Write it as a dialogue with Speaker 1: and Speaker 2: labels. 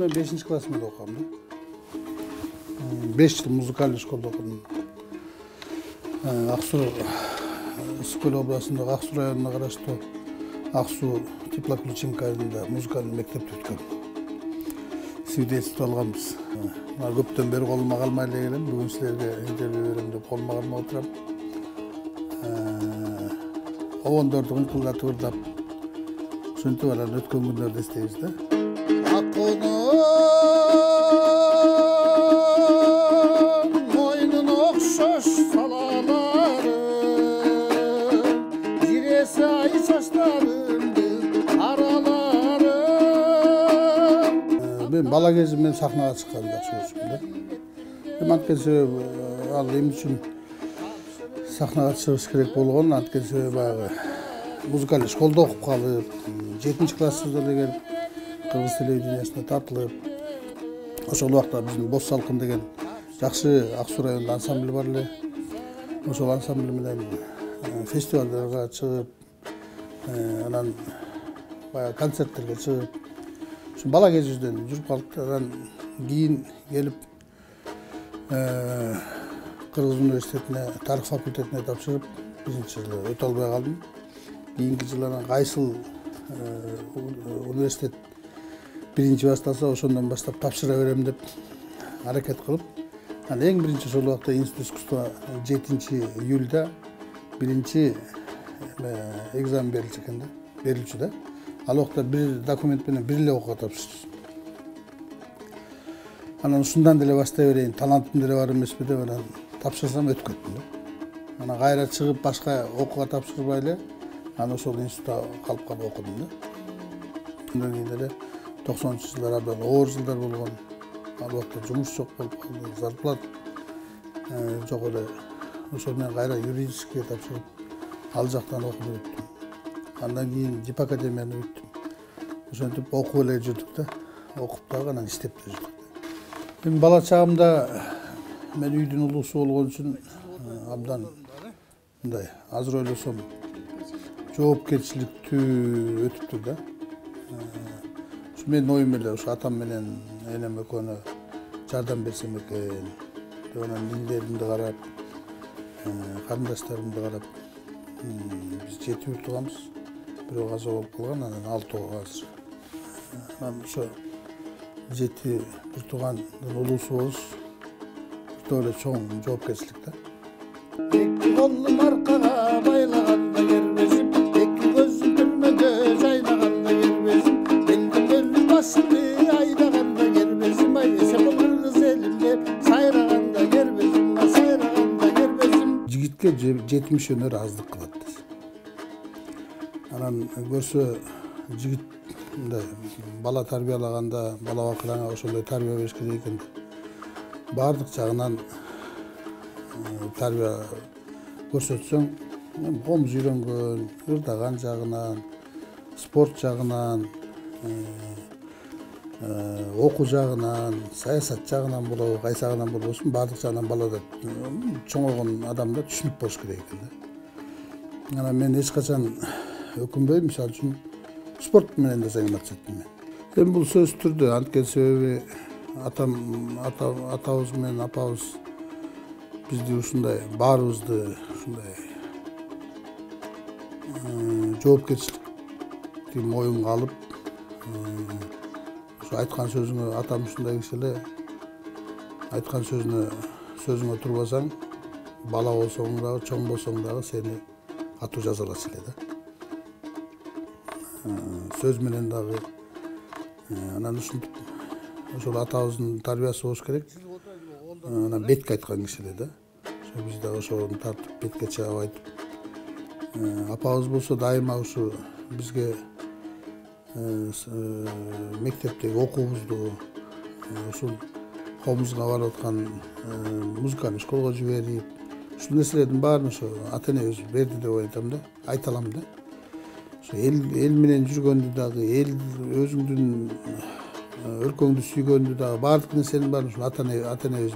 Speaker 1: мен 5-класс менен окугам да. 5 жыл музыкалдык школда окудум. Ак Суу Ысык Көл областындагы Ак Суу районуна караштуу Ак Суу теплоключилка айылында музыкалдык мектепти бүткөм. Свидетельство алганбыз. Көптөн бери колума калмай эле келем. Бүгүн силерге интервью берем деп колума калмай отурам. Обондорду кыңкылдатып ырдап, ушинтип анан өткөн күндөрдү эстейбиз да. Мойнун окшош салалары, жиресе ай чачтарымдын аралары. Мен бала кезимден сахнага чыкканды жакшы көрчүмүн да. Анткени себеби ал эмне үчүн сахнага чыгыш керек болгон, анткени себеби баягы музыкалдык школдо окуп калып, 7-классыбызда эле келип кыргыз телевидениясына тартылып, ошол убакта биздин Боз Салкын деген жакшы Ак Суу районунда ансамбль бар эле. Ошол ансамбль менен фестивалдарга чыгып, анан баягы концерттерге чыгып, ушу бала кезибизден жүрүп калдык. Анан кийин келип Кыргыз университетине тарых факультетине тапшырып, 1-жылы өтө албай калдым. Кийинки жылы анан кайсыл университет 1-башталса, ошондон баштап тапшыра берем деп аракет кылып, анан эң биринчи ошол убакта Институт искусства 7-июлда 1 экзамен берилчү экен да, берилчү да. Ал убакта бир документ менен бир эле окууга тапшырчу. Анан ушундан деле баштай берейин, талантым деле бар эмеспи деп анан тапшырсам өтүп кеттим да. Анан кайра чыгып башка окууга тапшырбай эле анан ошол институтта калып окудум да. Андан кийин эле 90-жылдар абдан оор жылдар болгон. Ал убакта жумуш жок болуп калды, зарплата жок эле. Ошол менен кайра юридическийге тапшырып, ал жактан окуп бүттүм. Андан кийин ЖИП академияны бүттүм. Ошентип окуп эле жүрдүк да. Окуп дагы анан иштеп да жүрдүк. Мен бала чагымда мен үйдүн улуусу болгон үчүн абдан мындай азыр ойлосом жоопкерчиликтүү өтүптүр да. Ушу менин оюм эле, ушу атам менен энем экөөнө жардам берсем экен деп анан индеримди карап, карындаштарымды карап, биз 7 бир тууганбыз. Бирөө каза болуп калган, анан 6 азыр. Анан ошо 7 бир туугандын улуусу болуш өтө эле чоң жоопкерчилик да. Эки колум аркага байлаганда кербезим, эки көзүм түрмөдө жайнаганда кербезим, белгилүү башымды айдаганда кербезим, ай эсеп кыргыз элимде сайраганда кербезим, сайраганда кербезим. Жигитке 70 өнөр аздык кылат. Анан көрсө жигит мындай бала тарбиялаганда, бала бакыраңа ошондой тарбия бериш керек экен. Баардык жагынан тарбия көрсөтсөң, комуз үйрөнгөн, ырдаган жагынан, спорт жагынан, окуу жагынан, саясат жагынан болобу, кайсы жагынан болбосун, баардык жагынан балада чоңойгон адамда түшүнүк болуш керек экен да. Анан мен эч качан өкүнбөйм, мисалы үчүн спорт менен да заниматься эттим мен. Эми бул сөзсүз түрдө, анткени себеби атабыз менен апабыз бизди ушундай баарыбызды ушундай жоопкерчиликти моюнга алып, ушу айткан сөзүңө, атам ушундай киши эле, айткан сөзүңө турбасаң, бала болсоң дагы, чоң болсоң дагы сени катуу жазалачу эле да. Сөз менен дагы анан ушинтип ошол атабыздын тарбиясы болуш керек. Анан бетке айткан киши эле да. Ошо биз дагы ошону тартып бетке чыгып айтып. Апабыз болсо дайыма ушу бизге мектептеги окуубузду ушул колубузга барып аткан музыкалдык школго жиберип, ушул нерселердин баарын ошо ата энебиз берди деп айта алам да. Эл менен жүргөндү дагы, эл өзүңдүн өлкөңдү сүйгөндү дагы, баардык нерсенин баарын ушул ата энебиз